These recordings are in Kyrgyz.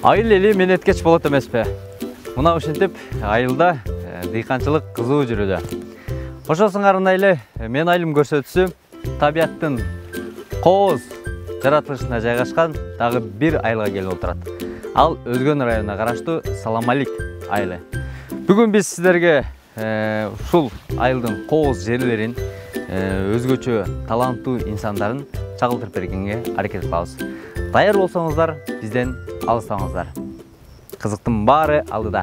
Айыл эли менеткеч болот эмеспи? Мына ушинтип айылда дыйканчылык кызуу жүрүүдө. Ошол сыңарында эле мен айылым көрсөтүүсү табияттын кооз жаратылышына жайгашкан дагы бир айылга келип отурат. Ал Өзгөн районуна караштуу Саламалик айылы. Бүгүн биз сиздерге ушул айылдын кооз жерлерин, өзгөчө таланттуу инсандарын чагылдырып бергенге аракет кылабыз. Даяр болсоңуздар, бизден алыстаңыздар. Кызыктын баары алдыда.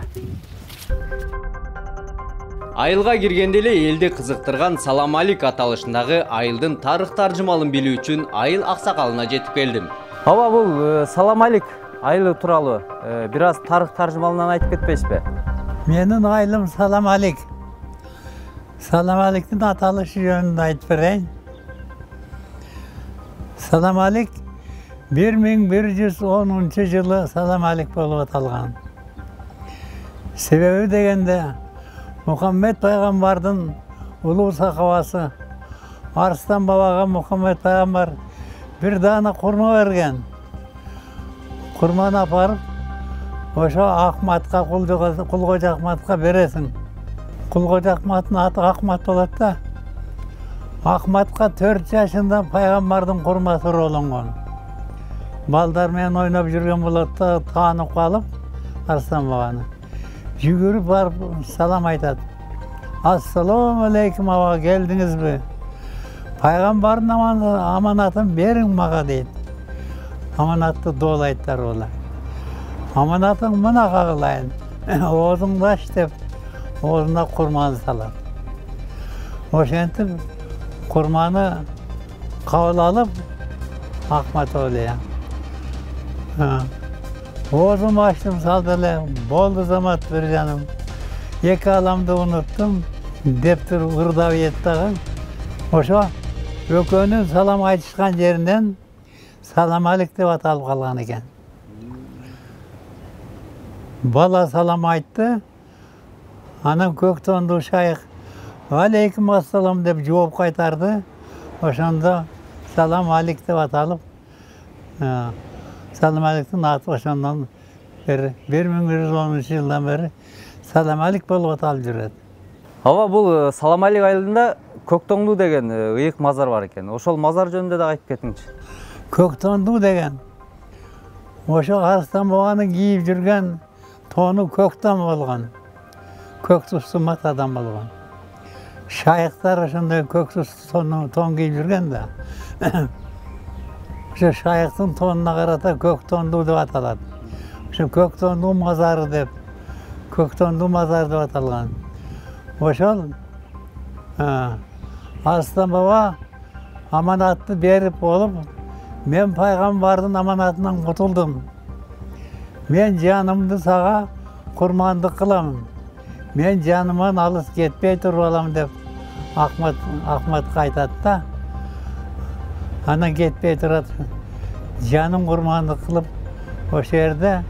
Айылга киргенде эле элди кызыктырган Саламалик аталышындагы айылдын тарых таржымалын билүү үчүн айыл аксакалына жетип келдим. Ооба, бул Саламалик айылы тууралуу бир аз тарых таржымалынан айтып кетпейсизби? Менин айылым Саламалик. Саламаликтин аталышы жөнүндө айтып берейин. Саламалик 1110 жылы Саламалик болуп аталган. Себеби дегенде Мухаммед пайгамбардын улуу сахабасы Арыстан бабага Мухаммед пайгамбар бир даана курма берген. Курманы апарып, ошо Ахматка, Кулкожо Ахматка бересиң. Кулкожо Ахматтын аты Ахмат болот да. Ахматка 4 жашында пайгамбардын курмасы урууланган. Балдар менен ойноп жүргөн болот да, таанып калып Арыстан бабаны. Жүгүрүп барып салам айтат. Ассаламу алейкум, аба, келдиңизби? Пайгамбардын аманатын бериң мага дейт. Аманатты доолайттар олар. Аманатың мына кагылайын. Оозуңду ач деп, оозуна курманы салат. Ошентип курманы кабыл алып Ахмат ойлойм. Оозумду ачтым, салды эле, болду замат бир жаным. Эки аламды унуттум деп туруп ырдап ийет дагы. Ошо экөөнүн салам айтышкан жеринен Саламалик деп аталып калган экен. Бала салам айтты, анан көк тондуу шайх алейкум ассалам деп жооп кайтарды. Ошондо Саламалик деп аталып, Саламаликтин аты ошондон бери 1110 жылдан бери Саламалик болуп аталып жүрөт. Ооба, бул Саламалик айылында Көктоңду деген ыйык мазар бар экен. Ошол мазар жөнүндө да айтып кетиңчи. Көктоңду деген ошо Арыстан бабанын кийип жүргөн тону көктөн болгон. Көк тустуу мат адам болгон. Шайыктар ошондой көк тустуу тон кийип жүргөн да. Ошо шайыктын тонуна карата Көктоңду деп аталат. Ошо Көктоңду мазары деп, Көктоңду мазар деп аталган. Ошол Арыстан баба аманатты берип болуп, мен пайгамбардын аманатынан кутулдум. Мен жанымды сага курмандык кылам. Мен жаныман алыс кетпей туруп алам деп Ахматка айтат да. Анан кетпей турат. Жаным курмандык кылып, ошол жерде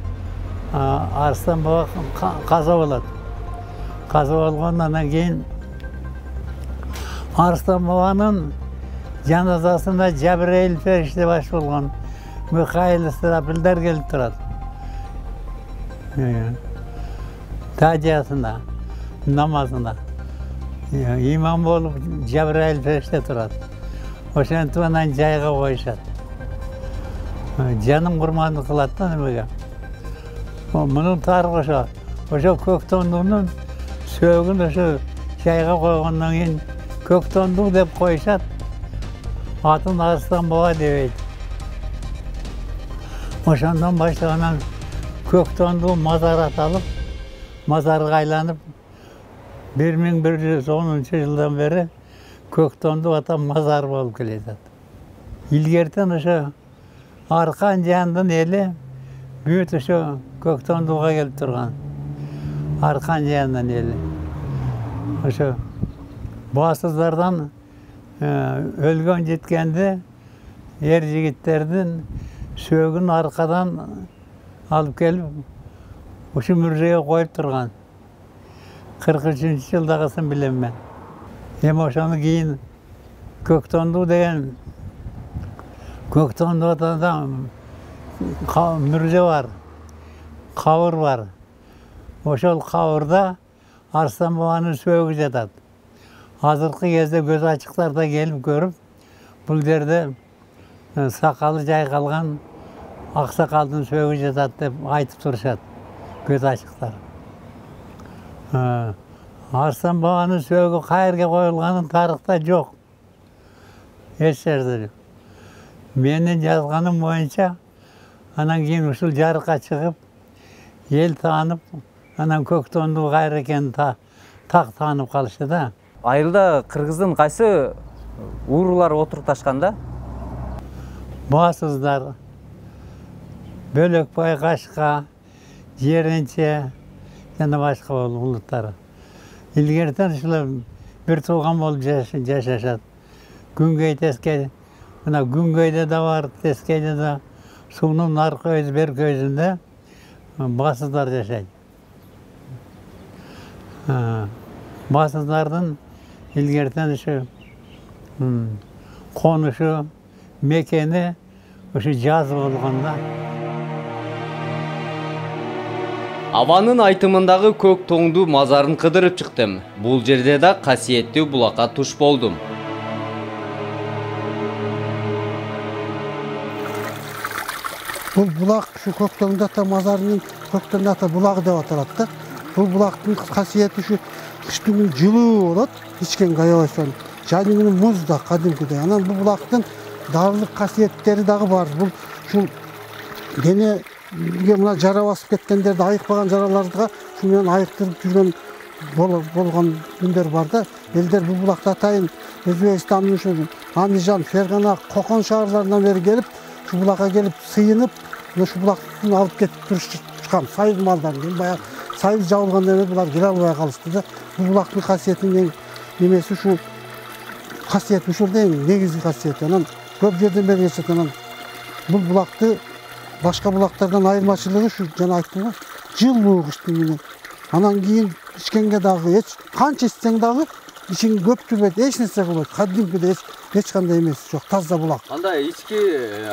Арыстан баба каза болот. Каза болгондон кийин Арыстан бабанын жаназасына Жабирейил фериште баш болгон Михаил Исрафилдер келип турат. Тажиясында, намазында. Имам болуп Жабирейил фериште турат. Ошентип анан жайга коюшат. Жаным курмандык кылат да немеге. Мунун тарыхы ошо. Ошо Көктоңдунун сөөгүн ошо жайга койгондон кийин Көктоңду деп коюшат. Атын Арыстан баба дебейт. Ошондон баштап анан Көктоңду мазар аталып, мазарга айланып 1110 жылдан бери Көктоңду атап мазар болуп келатат. Илгертен ошо Аркан жандын эли бүт ошо Көктоңдуга келип турган. Аркан жандын эли. Ошо басыздардан өлгөн жеткенди эр жигиттердин сөөгүн аркадан алып келип ушу мүрзөйгө коюп турган. 43-жылдагысын билем мен. Эми ошону кийин Көктоңду деген Көктоңду атадан мүрзө бар. кабыр бар. Ошол кабырда Арыстан бабанын сөөгү жатат. Азыркы кезде көз ачыктарда келип көрүп, бул жерде сакалы жайкалган аксакалдын сөөгү жатат деп айтып турушат көз ачыктар. Арыстан бабанын сөөгү кайерге коюлганын тарыхта жок. Эч жерде жок. Менин жазганым боюнча, анан кийин ушул жарыкка чыгып, эл таанып, анан Көктөндү кайра экенин так таанып калышты да. Айылда кыргыздын кайсы уруулары отурукташкан да? Басыздар, Бөлөкбай, Кашка, Жеренче жана башка улуттар. Илгертен ушулар бир тууган болуп жашашат. Күнгөй тескей, мына Күнгөйдө да бар, Тескейде да, суунун аркы көйү, бер көйүндө басыздар жашайт. Басыздардын илгертен ушу конушу, мекени ушу жаз болгон да. Абанын айтымындагы көк тоңду мазарын кыдырып чыктым. Бул жерде да касиеттүү булакка туш болдум. Бул булак ушу Көктөңдү ата мазарынын Көктөңдү ата булагы деп аталат да. Бул булактын касиети ушу кыштын күнү жылуу болот, ичкенге аябайсан. Жайдын күнү муз да кадимкидей. Анан бул булактын дагылык касиеттери дагы бар. Бул ушул денеге мына жара басып кеткендерди, айыкпаган жараларга ушу менен айыктырып жүргөн болгон күндөр бар да. Элдер бул булакты атайын Өзбекстандын ушу Андижан, Фергана, Кокон шаарларынан бери келип, ушу булакка келип сыйынып, ушу булактын алып кетип турушкан сайыз малдарын. Баягы сайыз жабылгандан кийин булар келе албай калышты да. Бул булактын касиетинин немеси ушу касиет ушулда негизги касиети. Анан көп жерден бери кетет. Анан бул булакты башка булактардан айырмачылыгы ушу жана айттым го, жылуу кыштын күнү. Анан кийин ичкенге дагы эч канча ичсең дагы ичиң көптүрбөйт, эч нерсе кылбайт. Кадимкидей эч кандай эмеси жок, таза булак. Анда ички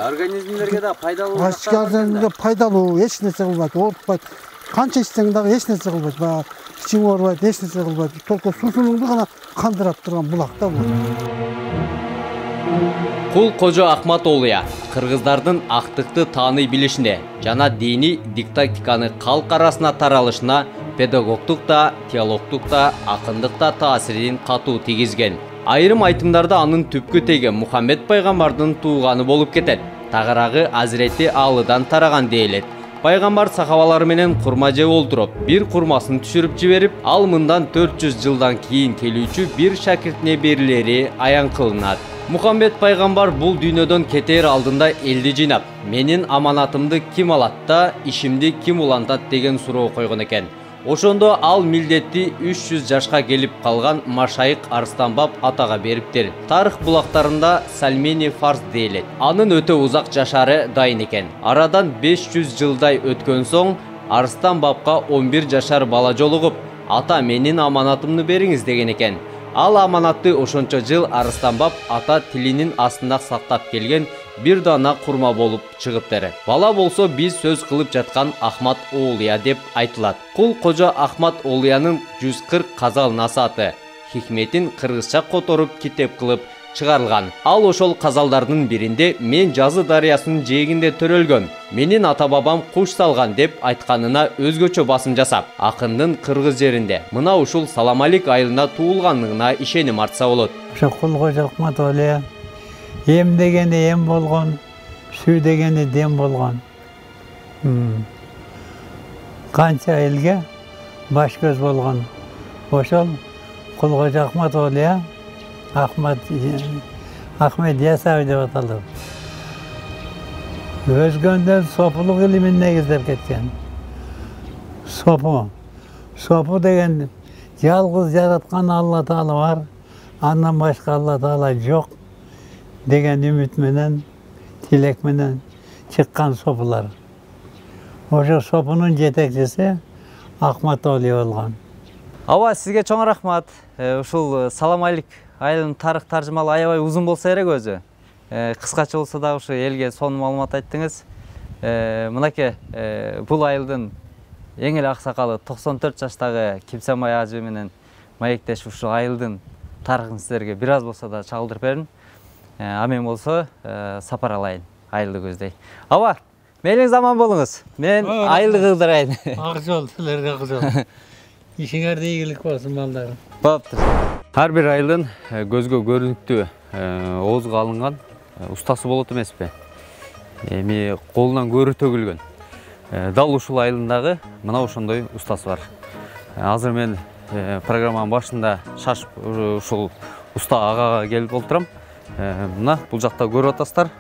организмдерге да пайдалуу. Ички организмге пайдалуу, эч нерсе кылбайт, оорутпайт. Канча ичсең дагы эч нерсе кылбайт. Баягы ичиң оорубайт, эч нерсе кылбайт. Только суусуңду гана кандырап турган булак да бул. Кул Кожо Ахмат Олуя кыргыздардын актыкты тааный билишине жана диний диктатиканы калк арасына таралышына педагогдук да, теологдук да, акындык да таасирин катуу тийгизген. Айрым айтымдарда анын түпкү теги Мухаммед пайгамбардын тууганы болуп кетет. Тагырагы Азирети Алыдан тараган дейлет. Пайгамбар сахабалары менен курма жеп олтуруп, бир курмасын түшүрүп жиберип, ал мындан 400 жылдан кийин келүүчү бир шакиртине берилери аян кылынат. Мухаммед пайгамбар бул дүйнөдөн кетер алдында элди жыйнап, менин аманатымды ким алат да, ишимди ким улантат деген суроо койгон экен. Ошондо ал милдетти 300 жашка келип калган Машайык Арыстанбап атага бериптир. Тарых булактарында Сальмени Фарс дейлет. Анын өтө узак жашары дайын экен. Арадан 500 жылдай өткөн соң Арыстанбапка 11 жашар бала жолугуп, ата менин аманатымды бериңиз деген экен. Ал аманатты ошончо жыл Арыстанбап ата тилинин астында сактап келген бир дана курма болуп чыгыптыр. Бала болсо биз сөз кылып жаткан Ахмат Олуя деп айтылат. Кул Кожо Ахмат Олуянын 140 казал насааты хикметин кыргызча которуп китеп кылып чыгарылган. Ал ошол казалдардын биринде мен Жазы дарыясынын жээгинде төрөлгөм, менин ата бабам куш салган деп айтканына өзгөчө басым жасап, акындын кыргыз жеринде мына ушул Саламалик айылында туулганлыгына ишеним артса болот. Ошо Кул Кожо Ахмат Олуя эм дегени эм болгон, сүү дегени дем болгон. Канча элге баш көз болгон. Ошол Кул Кожо Ахмат Олуя Ахмед Ясаев деп аталды. Өзгөндөн сопулук илимин негиздеп кеткен. Сопу деген жалгыз жараткан Алла Таала бар, андан башка Алла Таала жок деген үмүт менен, тилек менен чыккан сопулар. Ошо сопунун жетекчиси Ахмат Олуя болгон. Аба, сизге чоң рахмат. Ушул Саламалик айылынын тарых таржымалы аябай узун болсо керек өзү. Кыскача болсо да ушу элге сонун маалымат айттыңыз. Мынакей бул айылдын эң эле аксакалы 94 жаштагы Кимсамай ажы менен маектешип ушул айылдын тарыхын силерге бир аз болсо да чагылдырып бердим. Амен болсо сапар алайын, айылды көздөй. Аба, мейлиңиз аман болуңуз. Мен айылды кылдырайын. Ак жол, силерге ак жол. Ишиңерде ийгилик болсун балдарым. Болуптур. Ар бир айылдын көзгө көрүнүктүү, оозго алынган устасы болот эмеспи? Эми колунан көрү төгүлгөн. Дал ушул айылдагы мына ошондой устасы бар. Азыр мен программанын башында шашып ушул уста агага келип олтурам. Мына бул жакта көрүп атасыздар.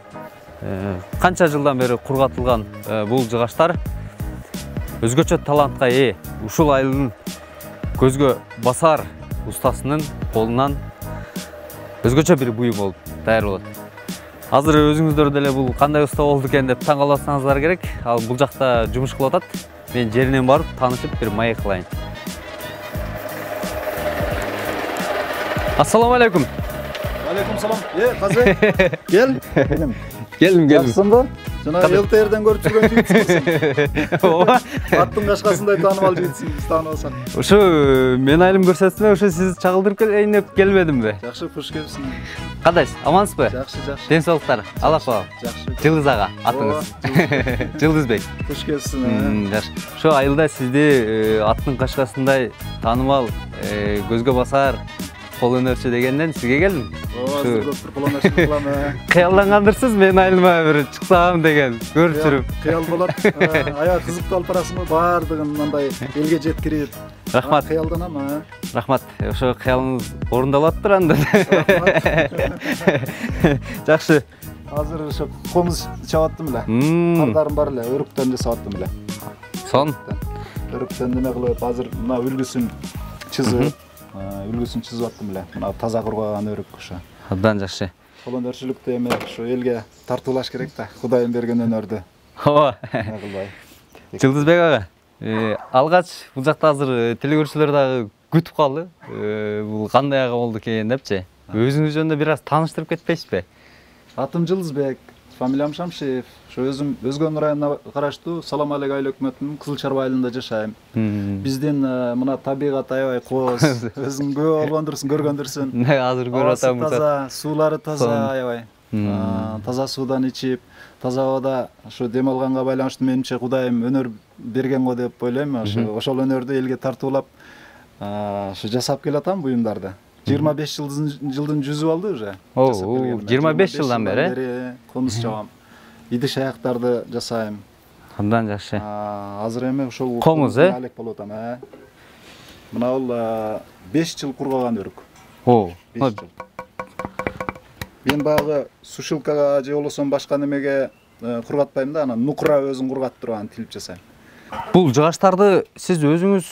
Канча жылдан бери кургатылган бул жыгаштар өзгөчө талантка ээ. Ушул айылдын көзгө басар устасынын колунан өзгөчө бир буюм болуп даяр болот. Азыр өзүңүздөр деле бул кандай уста болду экен деп таң каласыңыздар керек. Ал бул жакта жумуш кылып атат. Мен жеринен барып таанышып бир маек кылайын. Ассаламу алейкум. Алейкум салам. Казы. Кел. Келдим. Жакшысыңбы? Жана ЛТРден көрүп жүргөн жигитсиң. Ооба. Аттын кашкасындай таанымал жигитсиң, биз таанып алсак. Ушу мен айылым көрсөтсөм, ушу сиз чагылдырып келейин деп келбедимби? Жакшы, куш келипсиң. Кандайсыз? Амансызбы? Жакшы. Ден соолуктар. Алла коо. Жакшы. Жылдыз ага атыңыз. Жылдызбек. Куш келипсиң. Жакшы. Ошо айылда сизди аттын кашкасындай таанымал, көзгө басар кол өнөрчү дегенден сизге келдим. Ооба, көп кол өнөрчү кылам. Кыялдангандырсыз мен айылыма бир чыксам деген көрүп жүрүп. Кыял болот. Аябай кызыктуу алып барасыңбы? Баардыгын мындай элге жеткирип. Рахмат. Кыялданам. Рахмат. Ошо кыялыңыз орундалаттыр анда. Жакшы. Азыр ошо комуз чабаттым эле. Кардарым бар эле, өрүктөн жасап аттым эле. Сон. Өрүктөн неме кылып, азыр мына үлгүсүн чызып аттым эле. Мына таза кургаган өрүк ошо. Абдан жакшы. Кол өнөрчүлүктө эми ошо элге тартуулаш керек да. Кудайым берген өнөрдү. Ооба. Эме кылбай. Жылдызбек ага, алгач бул жакта азыр телекөрүүчүлөр дагы күтүп калды. Бул кандай ага болду экен депчи. Өзүңүз жөнүндө бир аз тааныштырып кетпейсизби? Атым Жылдызбек, фамилиям Шамшиев. Ошо өзүм Өзгөн районуна караштуу Салам Алек айыл өкмөтүнүн Кызыл Чарба айылында жашайм. Биздин мына табигат аябай кооз. Өзүң көп болгондурсуң, көргөндүрсүң. Азыр көрүп атам. Таза, суулары таза аябай. Таза суудан ичип, таза абада ошо дем алганга байланыштуу менимче Кудайым өнөр берген го деп ойлойм. Ошол өнөрдү элге тартуулап ошо жасап келатам буюмдарды. 25 жылдын жүзү болду уже. 25 жылдан бери комуз чабам. Идиш аяктарды жасайм. Абдан жакшы. Азыр эми ошол комуз алек болуп атам. Мына бул 5 жыл кургаган өрүк. 5 жыл. Мен багы сушилкага же болбосо башка немеге кургатпайм да, анан нукура өзүң кургатып туруп анан тилип жасайм. Бул жыгаштарды сиз өзүңүз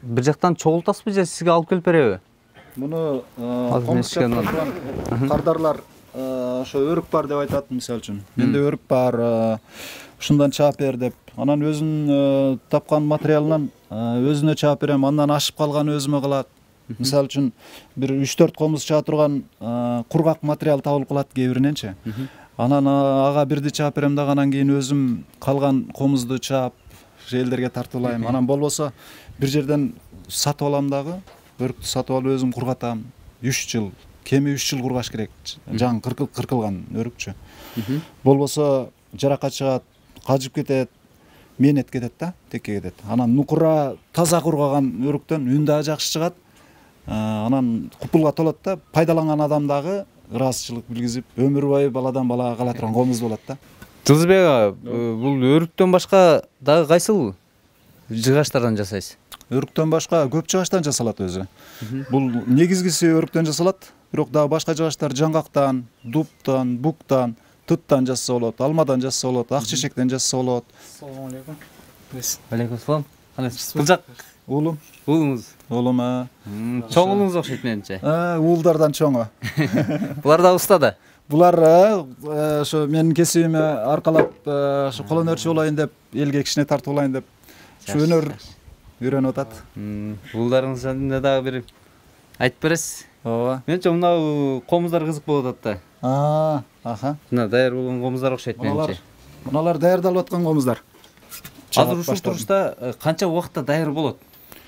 бир жактан чогултасызбы же сизге алып келип береби? Муну комуз чапкан кардарлар ошо өрүк бар деп айтат, мисалы үчүн. Менде өрүк бар, ушундан чаап бер деп. Анан өзүн тапкан материалынан өзүнө чаап берем, андан ашып калган өзүмө калат. Мисалы үчүн бир 3-4 комуз чаа турган кургак материал табылып калат кээ бириненчи. Анан ага бирди чаап берем дагы, анан кийин өзүм калган комузду чаап элдерге тартуулайм. Анан болбосо бир жерден сатып алам дагы. Өрүктү сатып алып өзүм кургатам. 3 жыл, кеми 3 жыл кургаш керек. Жаңы кыркылган өрүкчү. Болбосо жаракат чыгат, кажып кетет, менет кетет да, текке кетет. Анан нукура таза кургаган өрүктөн үн да жакшы чыгат. Анан купулга толот да, пайдаланган адам дагы ыраазычылык билгизип, өмүр бою баладан балага кала турган комуз болот да. Жылдызбек ага, бул өрүктөн башка дагы кайсыл жыгаштардан жасайсыз? Өрүктөн башка көп жыгаштан жасалат өзү. Бул негизгиси өрүктөн жасалат, бирок дагы башка жыгаштар жаңгактан, дубтан, буктан, туттан жасаса болот, алмадан жасаса болот, ак чечектен жасаса болот. Ассаламу алейкум. Алейкум салам. Бул жак Уулум. уулуңуз. Уулум. Чоң уулуңуз окшойт менимче. Уулдардан чоңу. Булар да уста да. Булар ошо менин кесибиме аркалап ошо кол өнөрчү болоюн деп, элге кичине тартуулайын деп ушу өнөр үйрөнүп атат. Уулдарыңыз жөнүндө дагы бир айтып бересиз? Ооба. Менче мына комуздар кызык болуп атат да. Аха. Мына даяр болгон комуздар окшойт менимче. Муналар даярдалып аткан комуздар. Азыр ушул турушта канча убакытта даяр болот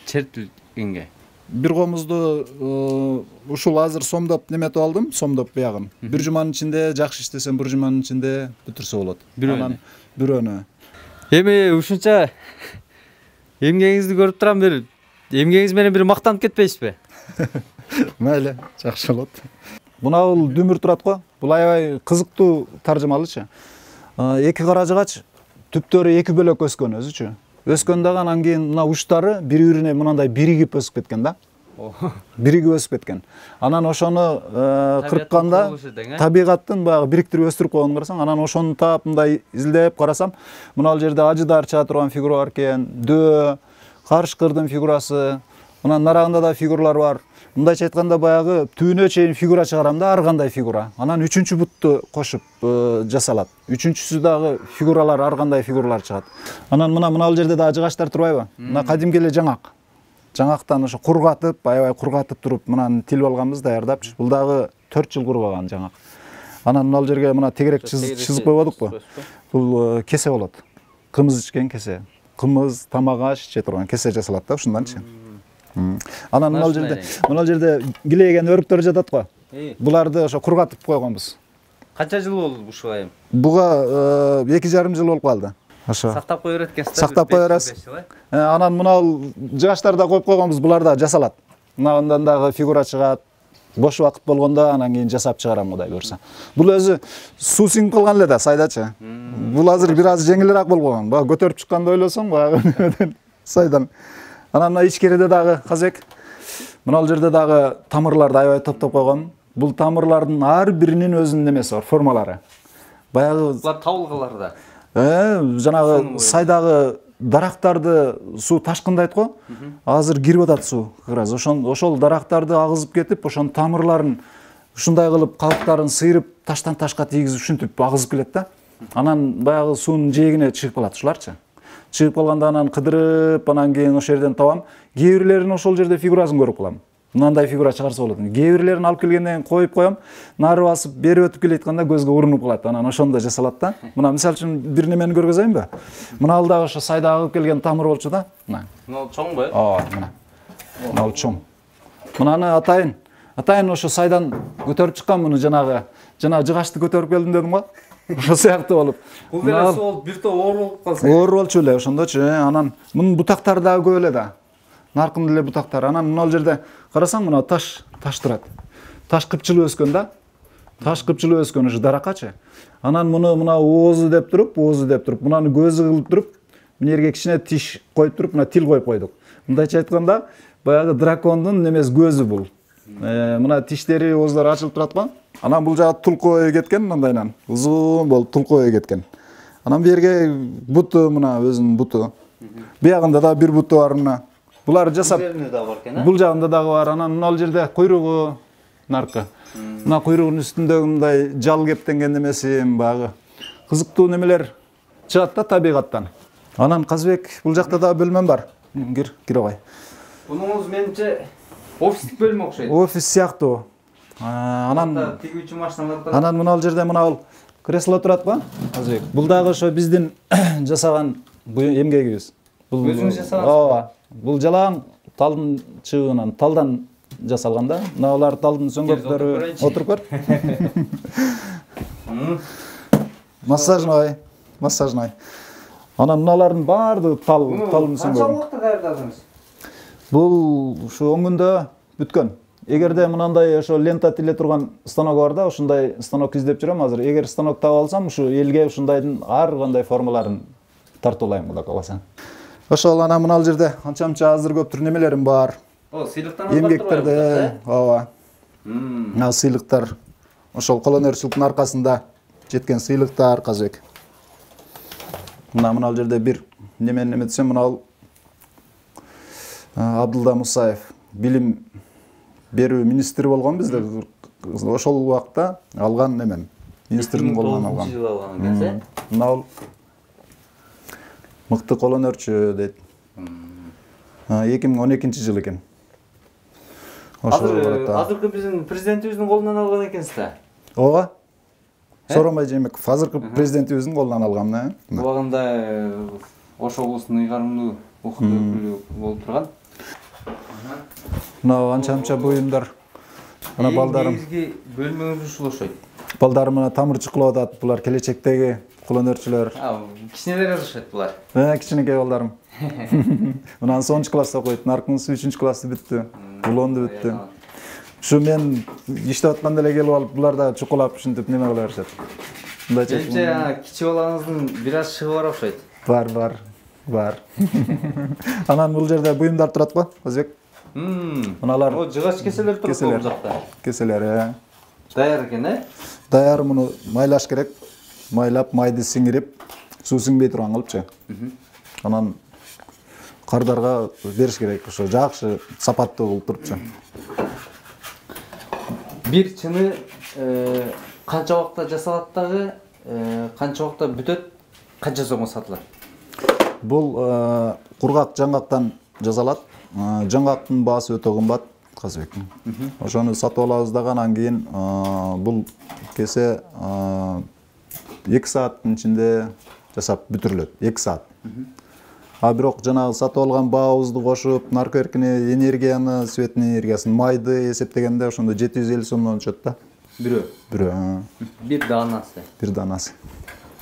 чертилгенге? Бир комузду ушул азыр сомдоп неметип алдым, сомдоп буягын. Бир жуманын ичинде, жакшы иштесем бир жуманын ичинде бүтүрсө болот. Бирөөнү. Эми ушунча эмгегиңизди көрүп турам, бир эмгегиңиз менен бир мактанып кетпейсизби? Мейли, жакшы болот. Мына бул дүмүр турат го. Бул аябай кызыктуу таржымалычы. Эки кара жыгач түптөрү эки бөлөк өскөн өзүчү. Өскөн дагы анан кийин мына учтары бири-бирине мындай биригип өсүп кеткен да. Биригип өсүп кеткен. Анан ошону кыркканда табигаттын баягы бириктирип өстүрүп койгонун карасаң, анан ошону таап мындай изилдеп карасам, мына ал жерде ажыдар чыга турган фигура бар экен, дөө, карышкырдын фигурасы, анан нарагында да фигуралар бар. Мындайча айтканда баягы түбүнө чейин фигура чыгарам да, ар кандай фигура. Анан үчүнчү бутту кошуп жасалат. Үчүнчүсү дагы фигуралар, ар кандай фигуралар чыгат. Анан мына ал жерде дагы жыгачтар турбайбы? Мына кадимки эле жаңак. Жаңактан ошо кургатып, аябай кургатып туруп, мынаны тилип алганбыз, даярдапчы. Бул дагы 4 жыл кургаган жаңак. Анан ал жерге мына тегерек чызып койбодукпу? Бул кесе болот. Кымыз ичкен кесе. Кымыз, тамак аш иче турган кесе жасалат да ушунданчы. Анан мына жерде килейген өрүктөр жатат го. Буларды ошо кургатып койгонбуз. Канча жыл болду ушуга эми? Буга 2,5 жыл болуп калды. Ошо. Сактап кое берет экенсиз. Сактап кое бересиз. Анан мына жыгачтар да коюп койгонбуз, булар да жасалат. Мындан дагы фигура чыгат. Бош убакыт болгондо анан кийин жасап чыгарам Кудай буйрса. Бул өзү суу сиңип калган эле да сайдачы. Бул азыр бир аз жеңилирээк болгон. Бага көтөрүп чыкканды ойлосоң, бага сайдан. Анан мына ичкериде дагы казбек. Мына ал жерде дагы тамырларды аябай топтоп койгон. Бул тамырлардын ар биринин өзүнүн немеси бар, формалары. Баягы булар табылгалар да. Жанагы сайдагы дарактарды суу ташкындайт го. Азыр кирип атат суу. Ошол дарактарды агызып кетип, ошонун тамырларын ушундай кылып калыптарын сыйрып, таштан ташка тийгизип ушинтип агызып келет да. Анан баягы суунун жээгине чыгып калат ушуларчы. Чыгып калганда анан кыдырып, анан кийин ошол жерден табам. Кээ бирлерин ошол жерде фигурасын көрүп калам. Мындай фигура чыгарса болот. Кээ бирлерин алып келгенден кийин коюп коем. Нары басып, бери өтүп келетканда көзгө урунуп калат. Анан ошондо жасалат да. Мына мисалы үчүн бир немени көргөзөйүнбү? Мына ал дагы ошо сайда агып келген тамыр болчу да. Мына. Мына чоңбу? Мына. Мына чоң. Мынаны атайын ошо сайдан көтөрүп чыккан муну жана жыгачты көтөрүп келдим дедим го. Ошо сыяктуу болуп. Бул деле сол бир топ оор болуп калса. Оор болчу эле ошондочу. Анан мунун бутактары дагы көп эле да. Наркын эле бутактар. Анан мына ал жерде карасаң, мына таш турат. Таш кыпчылы өскөн да. Таш кыпчылы өскөн ушу даракачы. Анан мына оозу деп туруп, мынаны көзү кылып туруп, мына жерге кичине тиш коюп туруп, мына тил коюп койдук. Мындайча айтканда, баягы дракондун немес көзү бул. Мына тиштери, оозлору ачылып турат го. Анан бул жагы тулку кеткен мындайнан. Узун болуп тулку кеткен. Анан бу жерге буту, мына өзүнүн буту. Буягында да бир буту бар мына. Булар жасап. Бул жагында дагы бар. Анан ал жерде куйругу наркы. Мына куйругунун үстүндөгү мындай жал кептенген немеси баягы кызыктуу немелер чыгат да табигаттан. Анан Казбек, бул жакта да бөлмөм бар. Кире кой. Бунуңуз менимче офистик бөлмө окшойт. Офис сыяктуу. Анан тигүүчү машиналар да. Анан мына ал жерде мына ал кресло турат го. Казбек. Бул дагы ошо биздин жасаган эмгегибиз. Бул өзүңүз жасагансыз? Ооба. Бул жалаң талдын чыгынан, талдан жасалган да. Мына алар талдын сөңгөктөрү. Отуруп көр. Массажный. Анан мыналардын баардыгы талдын сөңгөгү. Канча убакытта даярдадыңыз? Бул ушу он күндө бүткөн. Эгерде мынандай ошо лента тиле турган станок бар да, ушундай станок издеп жүрөм азыр. Эгер станок таап алсам, ушу элге ушундайдын ар кандай формаларын тартуулайм, Кудай кааласа. Ошол анан мына ал жерде анча-мынча азыр көптүр немелерим бар. Сыйлыктан эмгектерде, ооба. Мына сыйлыктар. Ошол колөнерчиликтин аркасында жеткен сыйлыктар, Казбек. Мына ал жерде бир немени эметсем, мына ал Абдулда Мусаев билим берүү министри болгон бизде. Ошол убакта алган немен. Министрдин колунан алган. Мына ал мыкты колөнерчү дейт. 2012-жылы экен. Азыркы биздин президентибиздин колунан алган экенсиз да? Ооба. Сооронбай Жээнбеков азыркы президентибиздин колунан алган. Убагында Ош облусунун ыйгарымдуу укук өкүлү болуп турган. Мына анча буюмдар. Мына балдарым. Негизги бөлмөңүз ушул окшойт. Балдарым мына тамырчы кылып атат. Булар келечектеги кулөнөрчүлөр. Кичинелер окшойт булар. Кичинекей балдарым. Мына 10 класста окуйт. Наркынсы 3 классты бүттү. Улонду бүттү. Ушу мен иштеп атканда эле келип алып, булар да чукулап ушинтип неме кыла беришет. Менимче кичи балаңыздын бир аз шыгы бар окшойт. Бар. Анан бул жерде буюмдар турат го, Өзбек. Мыналар жыгач кеселер турат бул жакта. Кеселер, Даяр экен, Даяр, муну майлаш керек. Майлап, майды сиңирип, суу сиңбей турган кылыпчы. Анан кардарга бериш керек. Ошо жакшы сапаттуу болуп турупчу. Бир чыны канча убакта жасалат дагы, канча убакта бүтөт, канча сомго сатылат? Бул кургак жаңгактан жасалат. Жаңгактын баасы өтө кымбат, Казбек. Ошону сатып алабыз дагы, анан кийин бул кесе 2 сааттын ичинде жасап бүтүрүлөт. 2 саат. Бирок жанагы сатып алган баабызды кошуп, наркоэркини энергияны, свет энергиясын, майды эсептегенде ошондо 750 сомдон түшөт да. Бирөө. Бир данасы.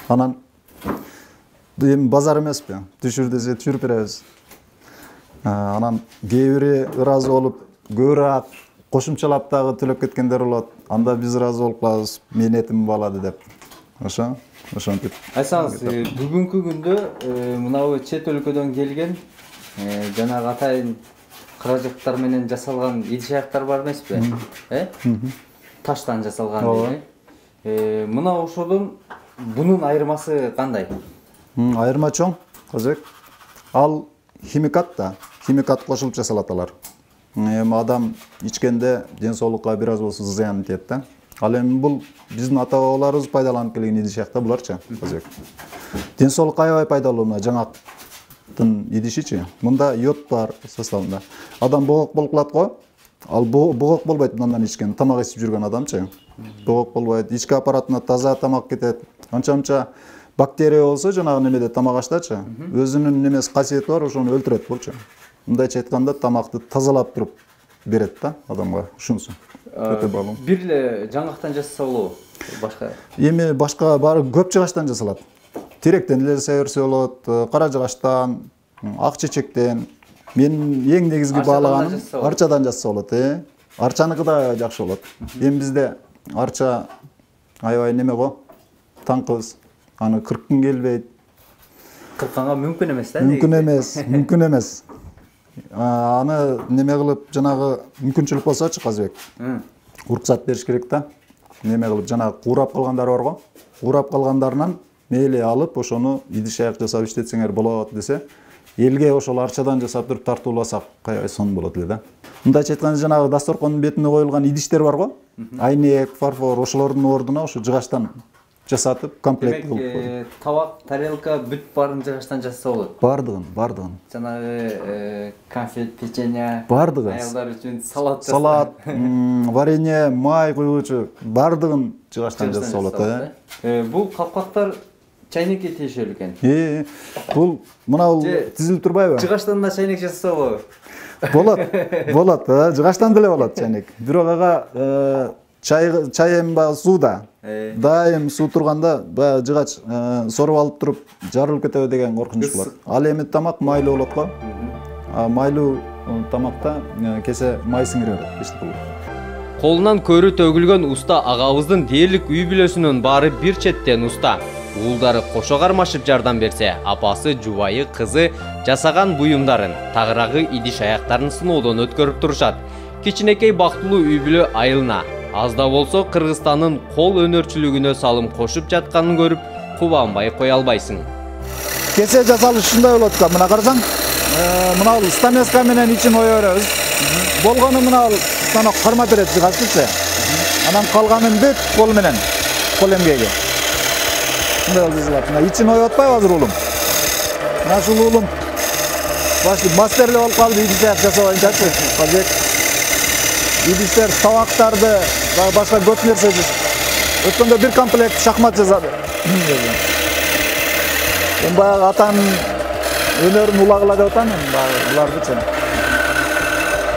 Анан эми базар эмеспи? Түшүр десе түшүрүп беребиз. Анан кээ бири ыраазы болуп, көбүрөөк кошумчалап дагы төлөп кеткендер болот. Анда биз ыраазы болуп калабыз, менин этим балады деп. Ошентип. Айтсаңыз, бүгүнкү күндө мынабу чет өлкөдөн келген жанагы атайын каражаттар менен жасалган идиш аяктар бар эмеспи? Таштан жасалган дейли. Мына ошодон бунун айырмасы кандай? Айырма чоң, Казбек. Ал химикат да, химикат кошулуп жасалат алар. Эми адам ичкенде ден соолукка бир аз болсо зыян тиет да. Ал эми бул биздин ата-бабаларыбыз пайдаланып келген идиш аякта буларчы, Казбек. Ден соолукка аябай пайдалуу мына жаңгактын идишичи. Мында йод бар составында. Адам боок болуп калат го. Ал боок болбойт мындан ичкен, тамак ичип жүргөн адамчы. Боок болбойт, ички аппаратына таза тамак кетет. Анча бактерия болсо жанагы немеде тамак аштачы, өзүнүн немеси касиети бар, ошону өлтүрөт болчу. Мындайча айтканда тамакты тазалап туруп берет да адамга, ушунсу. Өтө баалуу. Бир эле жаңгактан жасаса болобу? Башка? Эми башка баары көп жыгачтан жасалат. Теректен эле жасай берсе болот, кара жыгачтан, ак чечектен. Мен эң негизги баалаганым арчадан жасса болот, Арчаныкы да жакшы болот. Эми бизде арча аябай неме го, таңкыбыз. Аны кырккын келбейт. Кыркканга мүмкүн эмес да? Мүмкүн эмес. Аны неме кылып, жанагы мүмкүнчүлүк болсочу, Казбек. Уруксат бериш керек да. Неме кылып, жанагы куурап калгандар бар го. Куурап калгандарынан мейли алып, ошону идиш аяк жасап иштетсеңер болот десе, элге ошол арчадан жасап туруп тартууласак, каябай сонун болот эле да. Мындайча айтканда жанагы дасторкондун бетине коюлган идиштер бар го. Айнек, фарфор, ошолордун ордуна ошо жыгачтан жасатып, комплект кылып коюп. Табак, тарелка бүт баарын жыгачтан жасаса болот. Бардыгын. Жанагы конфет, печенье, бардыгы. Аялдар үчүн салат, варенье, май куюучу бардыгын жыгачтан жасаса болот. Бул капкактар чайнекке тиешелүү экен. Бул мына тизилип турбайбы? Жыгачтан да чайнек жасаса болобу? Болот, жыгачтан деле болот чайнек. Бирок ага чай эми баягы сууда. Дайым суу турганда баягы жыгач соруп алып туруп жарылып кетеби деген коркунуч бар. Ал эми тамак майлуу болот го. Майлуу тамакта кесе май сиңире берет, эчтеке болбойт. Колунан көрү төгүлгөн уста агабыздын дээрлик үй бүлөсүнүн баары бир четтен уста. Уулдары кошо кармашып жардам берсе, апасы, жубайы, кызы жасаган буюмдарын, тагыраагы идиш аяктарын сыноодон өткөрүп турушат. Кичинекей бактылуу үй бүлө айылына аз да болсо Кыргызстандын кол өнөрчүлүгүнө салым кошуп жатканын көрүп, кубанбай кое албайсың. Кесе жасалышы ушундай болот да, мына карасаң, мына стамеска менен ичин ое беребиз. Болгону мына станок кармап берет жыгачтычы. Анан калганын бүт кол менен, кол эмгеги. Мындай жасалат. Мына ичин ое атпайбы азыр уулум? Мына ушул уулум мастерлеп алып калды идиш аяк жасап боюнчачы. Казбек идиштер, табактарды, башка көп нерсе. Өткөндө бир комплект шахмат жасады. Баягы атанын өнөрүн улагыла деп атам мен булардычы.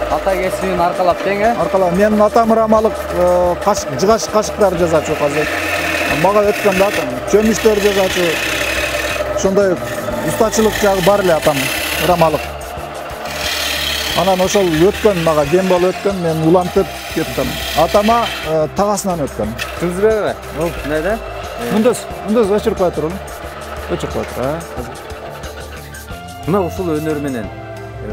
Ата кесибин аркалап тең, Аркалап менин атам рамалык жыгач кашыктар жасачу азыр. Мага өткөн да атам. Чөмүчтөр жасачу. Ошондой устачылык жагы бар эле атам рамалык. Анан ошол өткөн мага кем болуп өткөн, мен улантып кеттим. Атама тагасынан өткөн. Түзбөбү? Эмнеде? Мындыз өчүрүп кой турун. Өчүрүп кой тур, Мына ушул өнөр менен,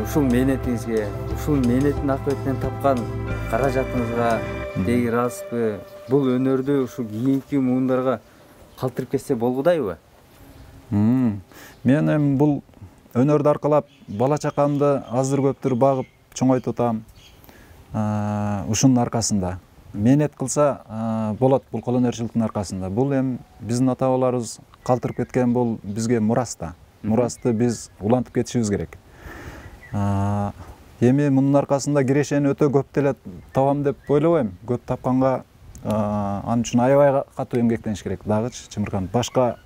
ушул мээнетиңизге, ушул мээнеттин акыбетинен тапкан каражатыңызга теги ыраазбы? Бул өнөрдү ушул кийинки муундарга калтырып кетсе болгудайбы? Мен эми бул өнөрдү аркалап бала чакамды аздыр көптүр багып чоңойтуп атам. Ушунун аркасында мээнет кылса болот, бул кол өнөрчүлүктүн аркасында. Бул эми биздин ата бабаларыбыз калтырып кеткен, бул бизге мурас да. Мурасты биз улантып кетишибиз керек. Эми мунун аркасында кирешени өтө көп деле табам деп ойлобойм. Көп тапканга ал үчүн аябай катуу эмгектениш керек дагычы, чымырканып. Башка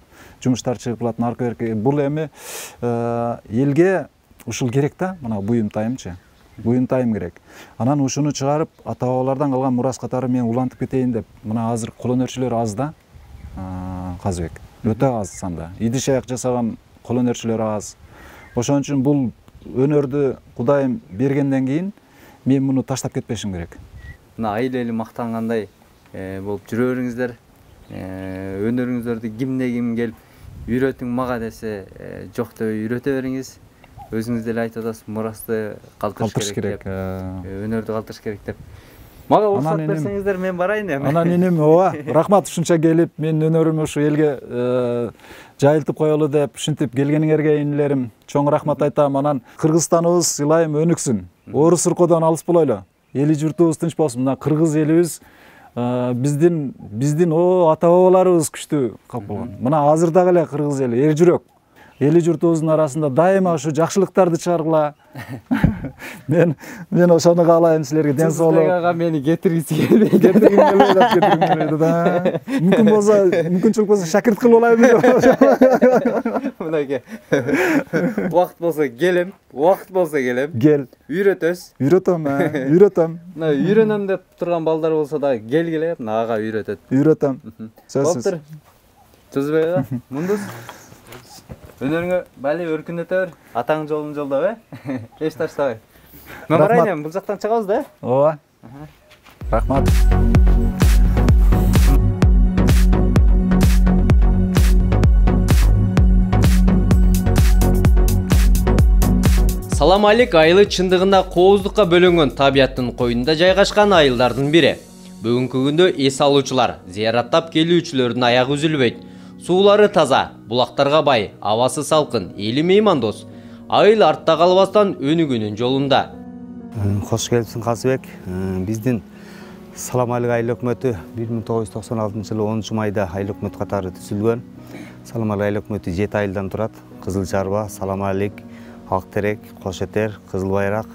жумуштар чыгып калат, арка берке. Бул эми элге ушул керек да, мына буюмтайымчы. Буюмтайым керек. Анан ушуну чыгарып, ата бабалардан калган мурас катары мен улантып кетейин деп. Мына азыр кол өнөрчүлөр аз да. Казыбек өтө аз санда. Идиш аяк жасаган кол өнөрчүлөр аз. Ошон үчүн бул өнөрдү Кудайым бергенден кийин мен муну таштап кетпешим керек. Мына айыл эли мактангандай болуп жүрө бериңиздер. Өнөрүңүздөрдү ким келип үйрөтүң мага десе, жок деп үйрөтө бериңиз. Өзүңүз деле айтып атасыз, мурасты калтырыш керек, өнөрдү калтырыш керек деп. Мага уруксат берсеңиздер, мен барайын эми. Анан инем, ооба, рахмат ушунча келип, мен өнөрүмү ушу элге жайылтып коелу деп ушинтип келгениңерге инилерим чоң рахмат айтам. Анан Кыргызстаныбыз ылайым өнүксүн. Орус уркоодон алыс болойлу. Эли журтубуз тынч болсун. Мына кыргыз элибиз биздин ата бабаларыбыз күчтүү калп болгон. Мына азыр дагы эле кыргыз эли эр жүрөк. Эли журтубуздун арасында дайыма ушу жакшылыктарды чыгаргыла. Мен ошону каалайм силерге, ден соолук. Ага мени кетиргиси келбейт. Кетиргим да. Мүмкүнчүлүк болсо шакирт кылып алайын деп. Мынакей. Убакыт болсо келем, Кел. Үйрөтөм. Мына үйрөнөм деп турган балдар болсо дагы келгиле, мына ага үйрөтөт. Үйрөтөм. Болуптур. Түзбөй мундус. Өнөрүңө бали өркүндөтө бер. Атаң жолун жолдо, эч таштабай. Мен барайын эми, бул жактан чыгабыз да? Ооба. Рахмат. Салам алейк айылы чындыгында кооздукка бөлөнгөн табияттын коюнунда жайгашкан айылдардын бири. Бүгүнкү күндө эс алуучулар, зыяраттап келүүчүлөрдүн аягы үзүлбөйт. Суулары таза, булактарга бай, абасы салкын, эли меймандос. Айыл артта калбастан өнүгүүнүн жолунда. Кош келипсиң Казыбек. Биздин Салам алейк айыл өкмөтү 1996 жылы 10 майда айыл өкмөт катары түзүлгөн. Салам алейк айыл өкмөтү 7 айылдан турат. Кызыл Жарба, Салам алейк, Ак Терек, Кош Этер, Кызыл Байрак,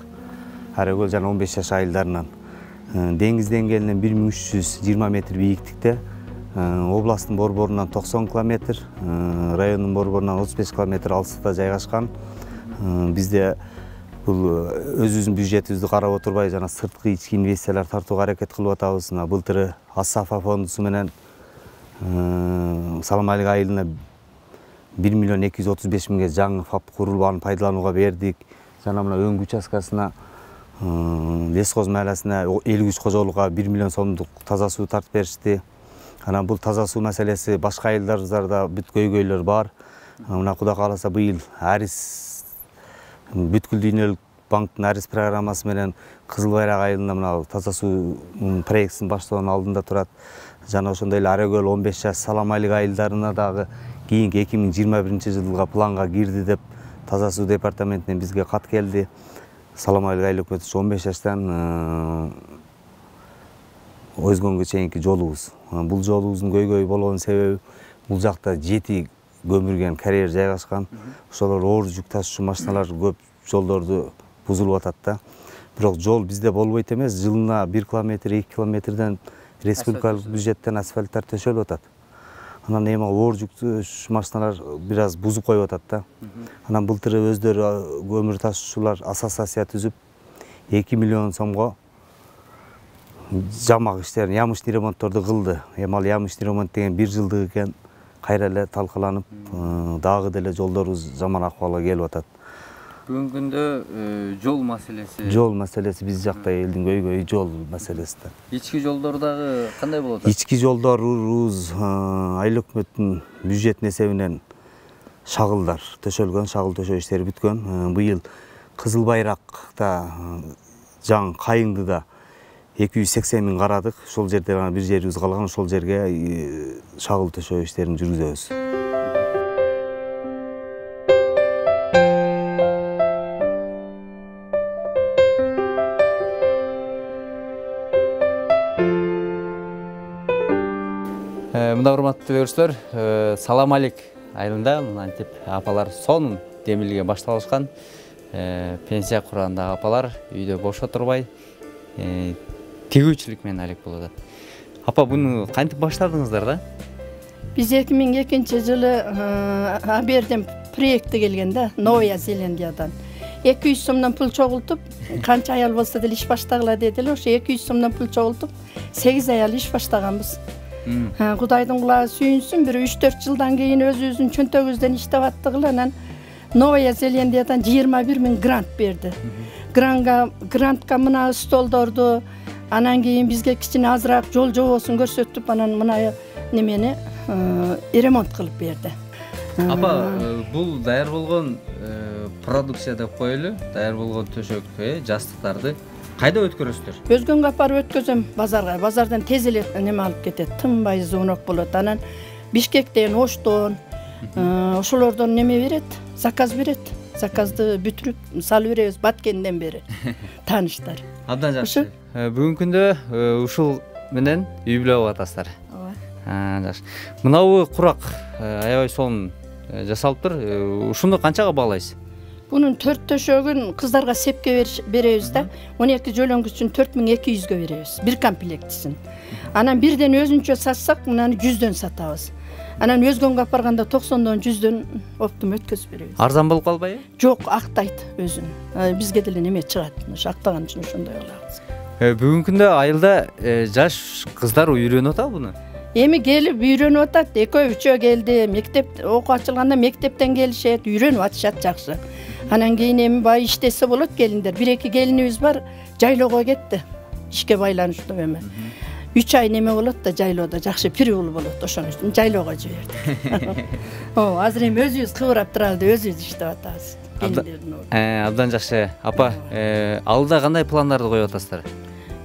Аракөл жана 15 жаш айылдарынан. Деңиз деңгээлинен 1320 метр бийиктикте. Областтын борборунан 90 километр, райондун борборунан 35 километр алыстыкта жайгашкан. Бизде бул өзүбүздүн бюджетибизди карап отурбай жана сырткы ички инвестициялар тартууга аракет кылып атабыз. Былтыры Асафа фондусу менен Салам алейк айылына 1 миллион 235 миңге жаңы ФАП курулуп, аны пайдаланууга бердик. Жана мына өңгү участкасына лесхоз мааласына 53 кожолукка 1 миллион сомдук таза суу тартып беришти. Анан бул таза суу маселеси башка айылдарда бүт көйгөйлөр бар. Мына Кудай кааласа быйыл Арис бүткүл дүйнөлүк банктын Арис программасы менен Кызыл Байрак айылында мына таза суу проектисин баштоонун алдында турат. Жана ошондой эле Аракөл 15 жаш Салам алейк айылдарына дагы кийинки 2021 жылга планга кирди деп таза суу департаментинен бизге кат келди. Салам алейк айыл өкмөтү 15 жаштан Өзгөнгө чейинки жолубуз. Бул жолубуздун көйгөй болгон себеби бул жакта 7 көмүрген карьер жайгашкан. Ошолор оор жүк ташуучу машиналар көп жолдорду бузулуп атат да. Бирок жол бизде болбойт эмес, жылына 1 километр, 2 километрден республикалык бюджеттен асфальттар төшөлүп атат. Анан эми оор жүктөш машиналар бир аз бузуп коюп атат да. Анан былтыр өздөрү көмүр ташуучулар ассоциация түзүп 2 миллион сомго жамак иштерин, ямыштуу ремонтторду кылды. Эми ал ямыштуу ремонт деген 1 жылдык экен, кайра эле талкаланып, дагы деле жолдорубуз жаман акыбалга келип атат. Бүгүнкү күндө жол маселеси биз жакта элдин көйгөйү жол маселеси да. Ички жолдор дагы кандай болот атат? Ички жолдорубуз айыл өкмөттүн бюджеттин эсебинен шагылдар төшөлгөн, шагыл төшөө иштери бүткөн. Быйыл Кызыл Байракта жаңы Кайыңдыда 280 миң карадык. Ошол жерде бир жерибиз калган, ошол жерге шагыл төшөө иштерин жүргүзөбүз. Мына урматтуу көрүүчүлөр, салам алейк айылында антип апалар сонун демилге башталышкан. Пенсия кургандагы апалар үйдө бош отурбай тигүүчүлүк менен алек болуп атат. Апа, буну кантип баштадыңыздар да? Биз 2002 жылы Аберден проекти келген да, Новая Зеландиядан. 200 сомдон пул чогултуп, канча аял болсо деле иш баштагыла дедилер. Ошо 200 сомдон пул чогултуп, 8 аял иш баштаганбыз. Кудайдын кулагы сүйүнсүн, бир 3-4 жылдан кийин өзүбүздүн чөнтөгүбүздөн иштеп аттыгыла, анан Новая Зеландиядан 21 миң грант берди. Грантка мына столдорду, анан кийин бизге кичине азыраак жол жобосун көрсөтүп, анан мына немени ремонт кылып берди. Апа, бул даяр болгон продукция деп коелу, даяр болгон төшөк, жастыктарды кайда өткөрөсүздөр? Өзгөнгө апарып өткөзөм базарга. Базардан тез эле неме алып кетет, тынбай звонок болот. Анан Бишкектен, Оштон ошолордон неме берет, заказ берет. Заказды бүтүрүп салып беребиз Баткенден бери. Тааныштар. Абдан жакшы. Бүгүнкү күндө ушул менен үй бүлө атасыздар. Ооба. Жакшы. Мынабу курак аябай сонун жасалыптыр. Ушуну канчага баалайсыз? Bunun 4 төшөгүн кыздарга сепке беребиз да. 12 жөлөңгү үчүн 4200гө беребиз. Бир комплектисин. Анан бирден өзүнчө сатсак, мынаны 100дөн сатабыз. Анан өзгөнгө апарганда 90дон 100дөн оптум өткөзүп беребиз. Арзан болуп калбайбы? Жок, актайт өзүн. Бизге деле неме чыгат. Актаган үчүн ошондой кылабыз. Бүгүнкү күндө айылда жаш кыздар үйрөнүп атабы буну? Эми келип үйрөнүп атат. Экөө үчөө келди. Мектеп окуу ачылганда мектептен келишет, үйрөнүп атышат жакшы. Анан кийин эми бай иштесе болот келиндер. 1-2 келинибиз бар, жайлоого кетти. Ишке байланыштуу эме. 3 ай неме болот да жайлоодо, жакшы период болот. Ошон үчүн жайлоого жибердик. Азыр эми өзүбүз кыбырап туралы өзүбүз иштеп атабыз. Абдан жакшы. Апа, алдыда кандай пландарды коюп атасыздар?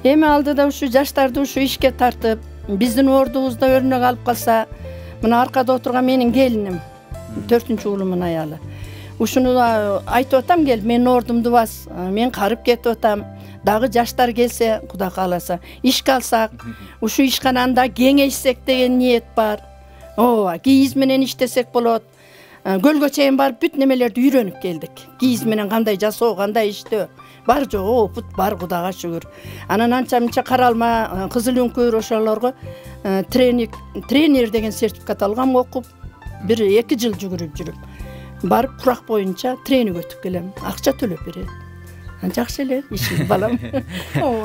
Эми алдыда ушу жаштарды ушу ишке тартып, биздин ордубузда өрнөк алып калса, мына аркада отурган менин келиним, 4-уулумун аялы. Ушуну айтып атам, келип менин ордумду бас, мен карып кетип атам. Дагы жаштар келсе, Кудай кааласа, ишке алсак, ушу ишкананда кеңейсек деген ниет бар. Ооба, кийиз менен иштесек болот. Көлгө чейин барып бүт немелерди үйрөнүп келдик. Кийиз менен кандай жасоо, кандай иштөө. Бар жогу опут бар, Кудайга шүгүр. Анан анча-мынча каралма, кызыл үңкүр ошолорго тренер деген сертификат алгам, окуп, 1-2 жыл жүгүрүп жүрүп. Барып курак боюнча тренинг өтүп келем. Акча төлөп берет. Жакшы эле ишим балам.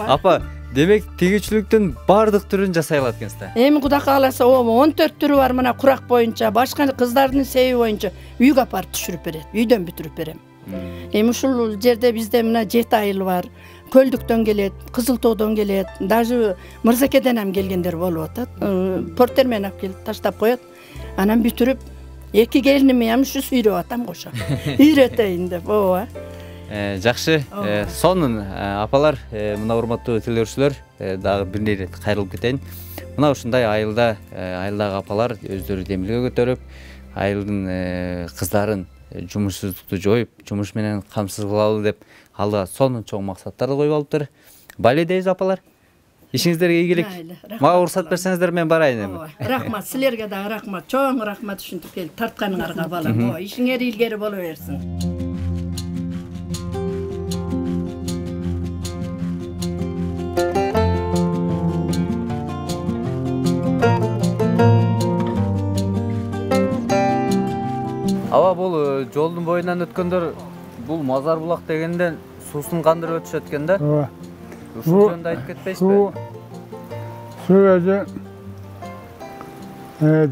Апа, демек тигүүчүлүктүн бардык түрүн жасай алат экенсиз. Эми Кудай кааласа, 14 түрү бар мына курак боюнча, башка кыздардын себеби боюнча үйгө апарып түшүрүп берет, үйдөн бүтүрүп берем. Эми ушул жерде бизде мына 7 айыл бар. Көлдүктөн келет, Кызыл тоодон келет, даже Мырзакеден ham келгендер болуп атат. Портермен алып келип таштап коет. Анан бүтүрүп 2 келиними ham ушу үйрөп атам кошо. Үйрөтөйүн деп, ооба. Жакшы, сонун апалар, мына урматтуу телеөрчүлөр, дагы бир нерсе кайрылып кетейин. Мына ушундай айылда, айылдагы апалар өздөрү демилге көтөрүп, айылдын кыздарын жумушсуздукту жоюп, жумуш менен камсыз кылалы деп алдыга сонун чоң максаттарды коюп алыптыр. Байле дейбиз апалар. Ишиңиздерге ийгилик. Мага уруксат берсеңиздер мен барайын эми. Рахмат, силерге дагы рахмат. Чоң рахмат ушинтип келип тартканыңарга балам. Ишиңер илгери боло берсин. Ооба, бул жолдун боюнан өткөндөр бул Мазар булак дегенден суусун кандырып өтүшөт экен да. Ооба. Ушул жөнүндө айтып кетпейсизби? Суу өзү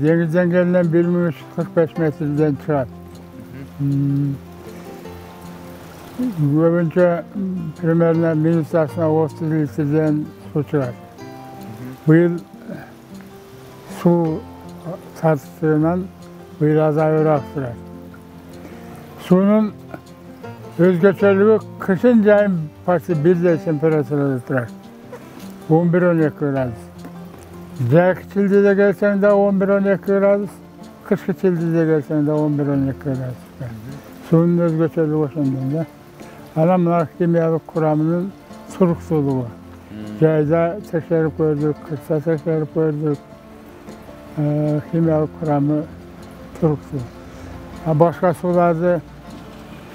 деңиз деңгээлинен 1345 метрден чыгат. Көбүнчө примерно минутасына 30 литрден суу чыгат. Быйыл суу тартышынан быйыл азайыраак турат. Суунун өзгөчөлүгү кышын жайын почти бирдей температурада турат. 11-12 градус. Жайкы чилдеде келсең да 11-12 градус, кышкы чилдеде келсең да 11-12 градус. Суунун өзгөчөлүгү ошондон да. Анан мына химиялык курамынын туруктуулугу. Жайда текшерип көрдүк, кышта текшерип көрдүк. Химиялык курамы туруктуу. Башка сууларды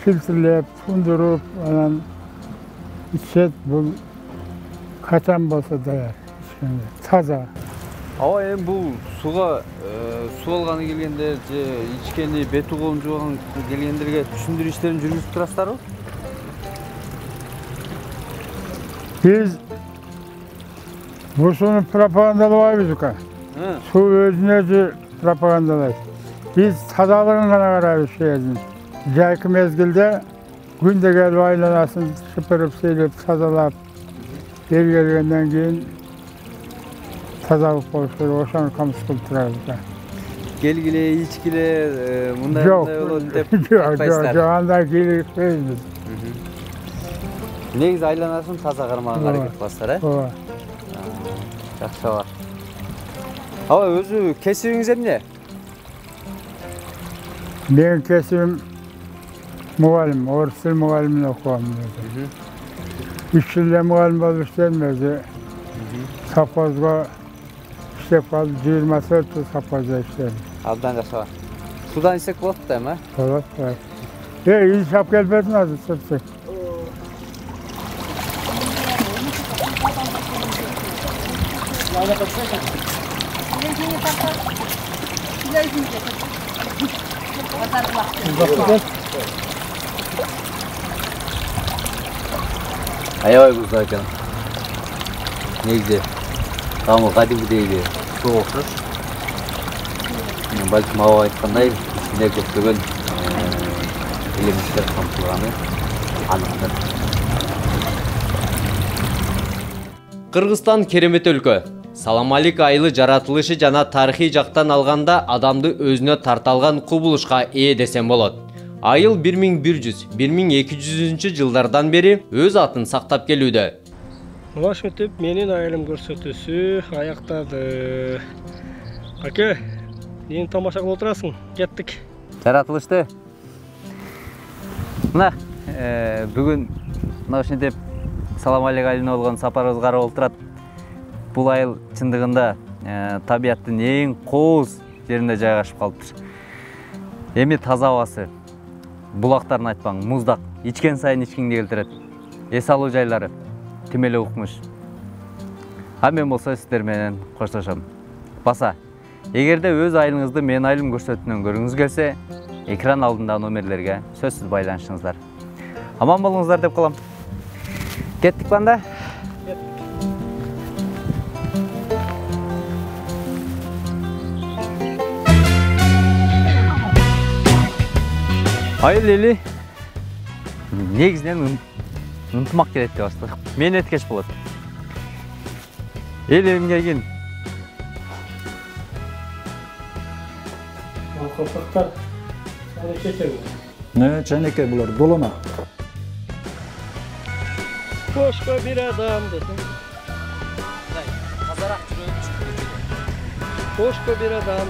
фильтрлеп, тундуруп, анан ичет, бул качан болсо даяр, таза. Ооба, эми бул сууга суу алганы келгендер же ичкени, бети колун жууган келгендерге түшүндүрүү иштерин жүргүзүп турасыздарбы? Биз бул сууну пропагандалабайбыз экен. Суу өзүнө өзү пропагандалайт. Биз тазалыгын гана карайбыз шээрдин. Жайкы мезгилде күндө келип айланасын шыпырып, сейлеп, тазалап, бери келгенден кийин тазалык болуш керек, ошону камсыз кылып турабыз. Келгиле, ичкиле, мындай болот деп айтпайсыздар. Жок, андай кийликпейбиз. Негизи айланасын таза кармаганга аракет кыласыздар, э? Ооба. Жакшы ооба. Ооба, өзү кесибиңиз эмне? Менин кесибим мугалим, орус тил мугалимин окугам. 3 жылда мугалим болуп иштедим өзү. Совхозго иштеп калып, 24 жыл совхоздо иштедим. Абдан жакшы ооба. Судан ичсек болот да эми, э? Болот. Иш алып келбедиң азыр, сөтсөк. Аябай бузда экен. Негизи тамы кадимгидей суу окшош. Балким аба айткандай, ичинде көптөгөн элементтер камтылганы аныктыр. Кыргызстан керемет өлкө. Саламалик айылы жаратылышы жана тарыхый жактан алганда адамды өзүнө тарта алган кубулушка ээ десем болот. Айыл 1100-1200 жылдардан бери өз атын сактап келүүдө. Мына ошентип менин айылым көрсөтүүсү аяктады. Аке, нени тамаша кылып отурасың? Кеттик. Жаратылышты. Мына бүгүн мына ошентип Саламалик айылына болгон сапарыбыз карап олтурат. Бул айыл чындыгында табияттын эң кооз жеринде жайгашып калыптыр. Эми таза абасы, булактарын айтпаң, муздак, ичкен сайын ичкиңди келтирет. Эс алуу жайлары тим эле укмуш. А мен болсо сиздер менен коштошом. Баса, эгерде өз айылыңызды менин айылым көрсөтүүнөн көргүңүз келсе, экран алдындагы номерлерге сөзсүз байланышыңыздар. Аман болуңуздар деп калам. Кеттик банда. Айыл эли негизинен ынтымак керек деп баштадык. Мен эткеч болот. Эл элимге кийин. Колпактар чечеби? Чайнекей булар долона. Кошко бир адам десең. Тазараак жүрөбүз. Кошко бир адам.